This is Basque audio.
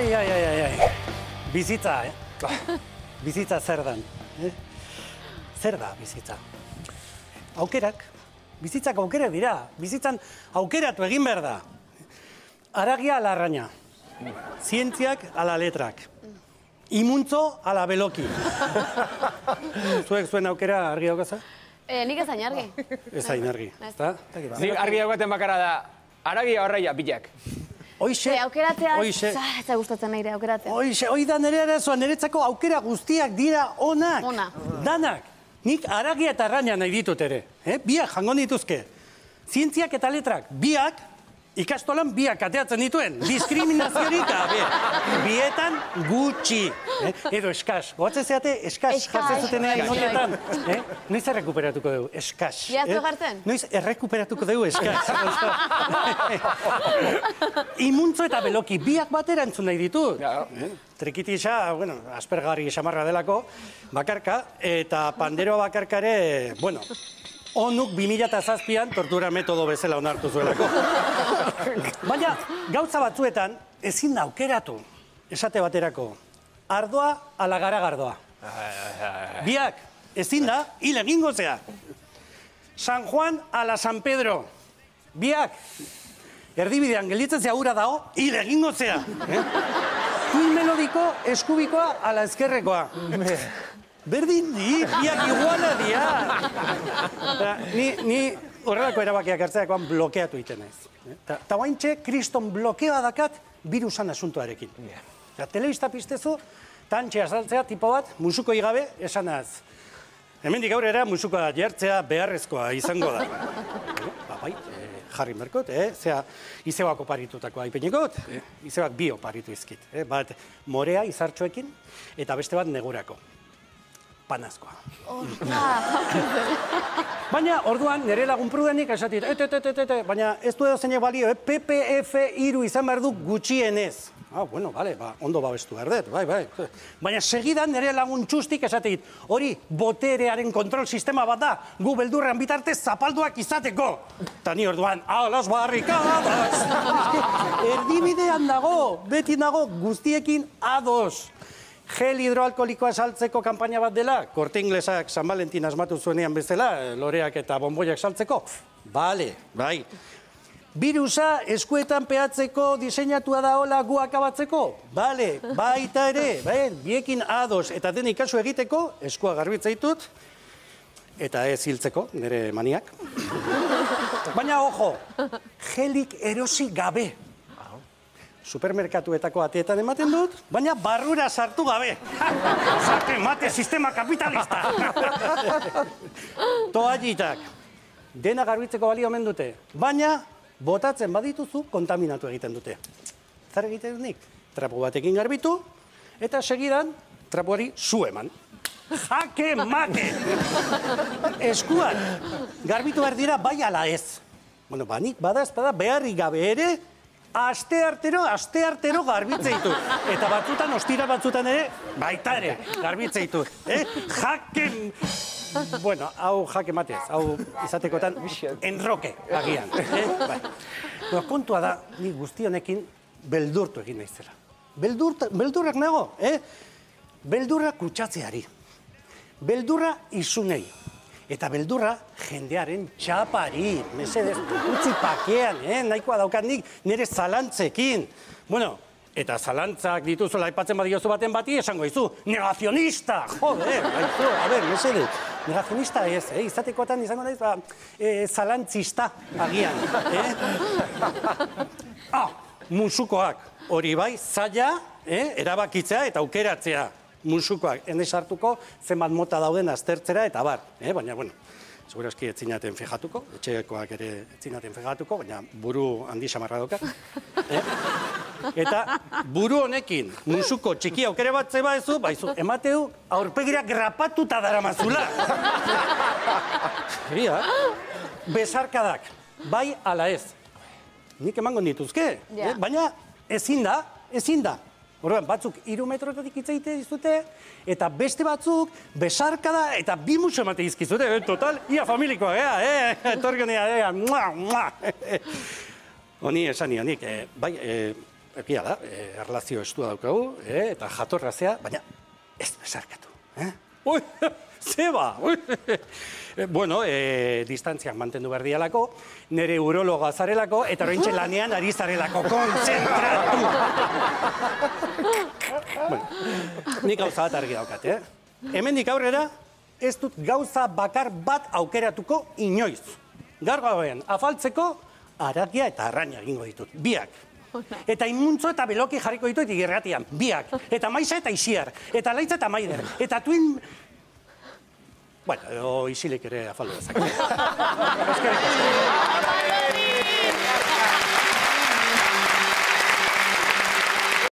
Ai. Bizitza, Bizitza zer dan. Zer da bizitza? Aukerak. Bizitzak aukerak dira. Bizitzan aukeratu egin behar da. Aragia ala arraina. Zientziak ala letrak. Imuntzo ala beloki. Zuek zuen aukera argi daukaza? Nik ez hain argi. Ez hain argi. Nik argi daukaten bakarra da, aragia horreia pilak. Hoixe, aukeratzea, ez da gustatzen nahi aukeratzea. Hoi da nire arazoa, niretzako aukera guztiak dira onak. Danak. Nik aragia eta arraina nahi ditut ere. Biak jango dituzke. Zientziak eta letrak, biak, ikastolan biak ateatzen dituen. Diskriminaziorik gabe. Bietan gutxi. Edo eskas. Goatzen zeate, eskas jartzen zutenean notetan. Noiz errekuperatuko dugu, eskas. Iaztu jartzen? Noiz errekuperatuko dugu, eskas. Imuntzo eta beloki, biak batera entzun nahi ditut. Trikitisa, bueno, aspergarri xamarra delako, bakarka, eta panderoa bakarkare, bueno, onuk 2007an tortura metodo bezala onartu zuelako. Baina, gauza batzuetan, ezin da aukeratu, esate baterako, ardoa ala garagardoa. Biak, ezin da, hil egingo zea. San Juan ala San Pedro. Biak, erdibidean gelditzen zea ura dao, hil egingo zea. Kuil melodiko eskubikoa ala ezkerrekoa. Berdin di, biak iguala dia. Ni horrelako erabakiak hartzeakoan blokeatu iten naiz. Ta guaintxe, kriston blokeoa dakat virusan asuntoarekin. Telebista piztezu, tantxe azaltzea tipo bat, musuko igabe, esanaz. Hemendik aurrera musukoa jartzea beharrezkoa izango da. Bai, jarri merkot, zea izebak oparitutako aipenekot, izebak bi oparitu izkit. Bat morea izartxoekin, eta beste bat negurako. Panazkoa. Baina, orduan, nire lagun prudenik esatit, baina ez du edo zeinek balio, PPF3 izan behar du gutxienez. Bueno, bale, ondo babestu behar dut, bai. Baina segidan nire lagun txustik esatit, hori boterearen kontrol sistema bat da, gu beldurrean bitartez zapalduak izateko. Ta ni orduan, a las barrikadas! Erdibidean dago, beti dago, guztiekin ados. Gel hidroalkolikoa saltzeko kanpaina bat dela, Korte Inglesak San Valentin asmatu zuenean bezala, loreak eta bonboiak saltzeko. Bale, bai. Birusa eskuetan peatzeko diseinatua da hola gu akabatzeko? Bale, baita ere, biekin ados eta den ikasu egiteko, eskua garbitzaitut, eta ez hiltzeko, nire maniak. Baina, ojo, gelik erosi gabe. Supermerkatuetako ateetan ematen dut, baina barrura sartu gabe. Zarte mate sistema kapitalista. Toallitak. Dena garbitzeko balio omen dute. Baina, botatzen badituzu, kontaminatu egiten dute. Zer egiten dut nik? Trapu batekin garbitu, eta segidan, trapuari zu eman. Jake mate! Eskuan, garbitu behar dira bai ala ez. Bueno, banik badazpada beharrik gabe ere, asteartero garbitzeitu. Eta batzutan, ostira batzutan ere, baita ere, garbitzeitu. Jake... Bueno, hau jake matez, hau izatekotan enroke agian. Kontua da, ni guztionekin beldurtu egin naizela. Beldurrak nago, beldurra kutsatzeari. Beldurra izunei. Eta beldurra jendearen txapari, mesedez, utzi pakean, nahikoa daukat nik nire zalantzekin. Bueno, eta zalantzak dituzola aipatzen badiozu baten bati, esango izu, negazionista! Joder, mesedez, negazionista ez, izatekotan izango naiz, zalantzista agian. Musukoak, hori bai, zaila, erabakitzea eta aukeratzea. Musukoak, ene sartuko, zenbat mota dauden aztertzera eta bar. Baina, bueno, segurazki etzinaten fijatuko, etxekoak ere etzinaten fijatuko, baina buru handi samarra dauka. Eta buru honekin, musuko txiki aukere bat zeba ezu, baizu, emateu aurpegira grapatuta daramazula. Besarkadak, bai ala ez. Nik emango dituzke, baina ezin da. Horrean, batzuk 3 metrotatik itzaite dizute, eta beste batzuk besarkada eta 2 musu emate izkizute. Total, ia familikoa, etorgen ea, mua. Honi esan ionik, bai, egia da, erlazio estua daukagu, eta jatorrazea, baina ez besarkatu. Ui, zeba! Bueno, distantziak mantendu behar dialako, nire urologa zarelako, eta oraintxe lanean ari zarelako, kontzentratu! Bueno, nik gauza bat argi daukat, Hemendik aurrera, ez dut gauza bakar bat aukeratuko inoiz. Gaur gauean, afaltzeko, haragia eta arraina egingo ditut, biak. Eta imuntzo eta beloki jarriko ditut irratian, biak. Eta maiza eta isiar, eta laitza eta maider, eta tuin... Bueno, isilik ere afaldu dezak.